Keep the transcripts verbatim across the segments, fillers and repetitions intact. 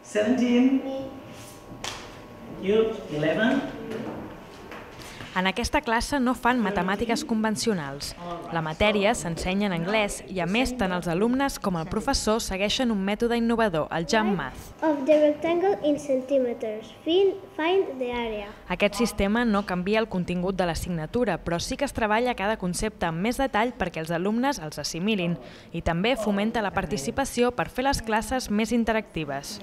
seventeen. You, eleven. En aquesta classe no fan matemàtiques convencionals. La matèria s'ensenya en anglès i, a més, tant els alumnes com el professor segueixen un mètode innovador, el Jump Math. Of the rectangle in centimeters. Find the area. Aquest sistema no canvia el contingut de l'assignatura, però sí que es treballa cada concepte amb més detall perquè els alumnes els assimilin i també fomenta la participació per fer les classes més interactives.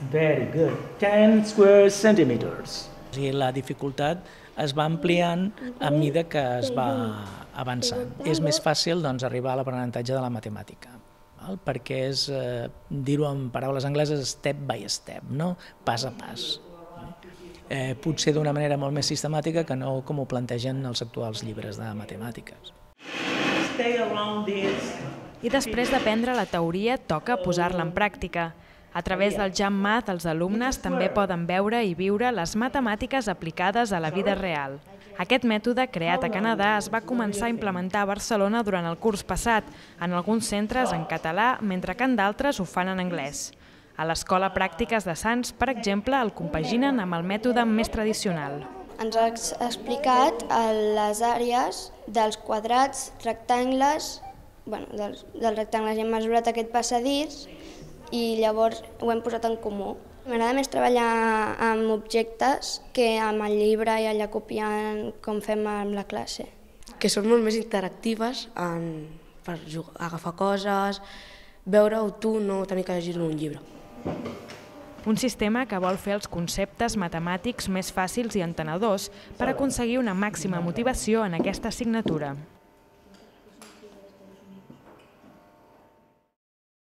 Very good. ten square centimeters. I la dificultat es va ampliant a mesura que es va avançant. És més fàcil doncs, arribar a l'aprenentatge de la matemàtica, val? Perquè és, eh, dir-ho en paraules angleses, step by step, no? Pas a pas. Eh, potser d'una manera molt més sistemàtica que no com ho plantegen els actuals llibres de matemàtiques. Stay around this. I després d'aprendre la teoria, toca posar-la en pràctica. A través del Jump Math, els alumnes també poden veure i viure les matemàtiques aplicades a la vida real. Aquest mètode, creat a Canadà, es va començar a implementar a Barcelona durant el curs passat, en alguns centres en català, mentre que en d'altres ho fan en anglès. A l'Escola Pràctiques de Sants, per exemple, el compaginen amb el mètode més tradicional. Ens ha explicat les àrees dels quadrats, rectangles, bueno, dels, dels rectangles, i hem mesurat aquest passadís i llavors ho hem posat en comú. M'agrada més treballar amb objectes que amb el llibre i allà copiant com fem amb la classe. Que són molt més interactives en, per jugar, agafar coses, veure-ho tu, no tenir que llegir-ho en un llibre. Un sistema que vol fer els conceptes matemàtics més fàcils i entenedors per aconseguir una màxima motivació en aquesta assignatura.